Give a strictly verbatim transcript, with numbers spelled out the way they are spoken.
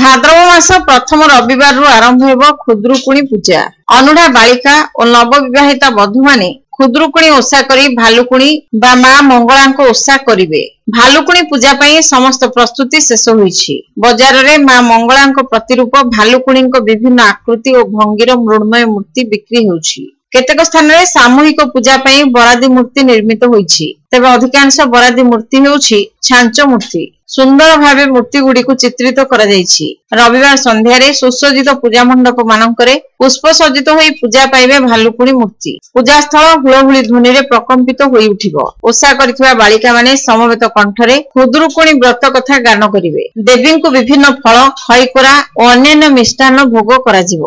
ଭାଦ୍ରବ ମାସ ପ୍ରଥମ ରବିବାରରୁ ଆରମ୍ଭ ହେବ ଖୁଦୁରୁକୁଣୀ ପୂଜା। ଅନୁଢା ବାଳିକା ଓ ନବବିବାହିତା ବଧୂମାନେ ଖୁଦୁରୁକୁଣୀ ଓଷା କରି ଭାଲୁକୁଣୀ ବା ମା ମଙ୍ଗଳାଙ୍କ ଓଷା କରିବେ। ଭାଲୁକୁଣୀ ପୂଜା ପାଇଁ ସମସ୍ତ ପ୍ରସ୍ତୁତି ଶେଷ ହୋଇଛି। ବଜାରରେ ମା ମଙ୍ଗଳାଙ୍କ ପ୍ରତିରୂପ ଭାଲୁକୁଣୀଙ୍କ ବିଭିନ୍ନ ଆକୃତି ଓ ଭଙ୍ଗୀର ମୃଣ୍ମୟ ମୂର୍ତ୍ତି ବିକ୍ରି ହେଉଛି। କେତେକ ସ୍ଥାନରେ ସାମୂହିକ ପୂଜା ପାଇଁ ବରାଦୀ ମୂର୍ତ୍ତି ନିର୍ମିତ ହୋଇଛି। ତେବେ ଅଧିକାଂଶ ବରାଦୀ ମୂର୍ତ୍ତି ହେଉଛି ଛାଞ୍ଚ ମୂର୍ତ୍ତି। ସୁନ୍ଦର ଭାବେ ମୂର୍ତ୍ତିଗୁଡ଼ିକୁ ଚିତ୍ରିତ କରାଯାଇଛି। ରବିବାର ସନ୍ଧ୍ୟାରେ ସୁସଜ୍ଜିତ ପୂଜା ମଣ୍ଡପ ମାନଙ୍କରେ ପୁଷ୍ପ ସଜ୍ଜିତ ହୋଇ ପୂଜା ପାଇବେ ଭାଲୁକୁଣୀ ମୂର୍ତ୍ତି। ପୂଜାସ୍ଥଳ ହୁଳହୁଳି ଧ୍ୱନିରେ ପ୍ରକମ୍ପିତ ହୋଇ ଉଠିବ। ଓଷା କରିଥିବା ବାଳିକାମାନେ ସମବେତ କଣ୍ଠରେ ଖୁଦୁରୁକୁଣୀ ବ୍ରତ କଥା ଗାନ କରିବେ। ଦେବୀଙ୍କୁ ବିଭିନ୍ନ ଫଳ, ଖଇକୋରା ଓ ଅନ୍ୟାନ୍ୟ ମିଷ୍ଟାନ୍ନ ଭୋଗ କରାଯିବ।